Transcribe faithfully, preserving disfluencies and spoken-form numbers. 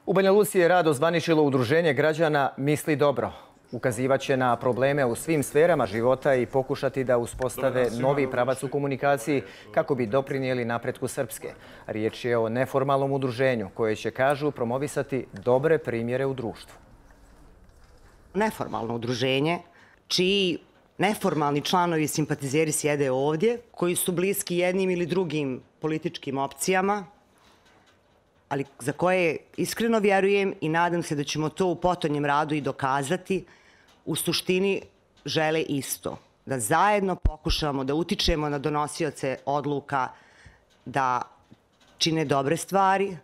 U Banja Luci je rad ozvaničilo udruženje građana Misli dobro. Ukazivaće na probleme u svim sferama života i pokušati da uspostave novi pravac u komunikaciji kako bi doprinijeli napretku Srpske. Riječ je o neformalnom udruženju koje će, kažu, promovisati dobre primjere u društvu. Neformalno udruženje čiji neformalni članovi i simpatizeri sjede ovdje, koji su bliski jednim ili drugim političkim opcijama, ali za koje iskreno vjerujem i nadam se da ćemo to u potonjem radu i dokazati, u suštini žele isto. Da zajedno pokušamo da utičemo na donosioce odluka da čine dobre stvari,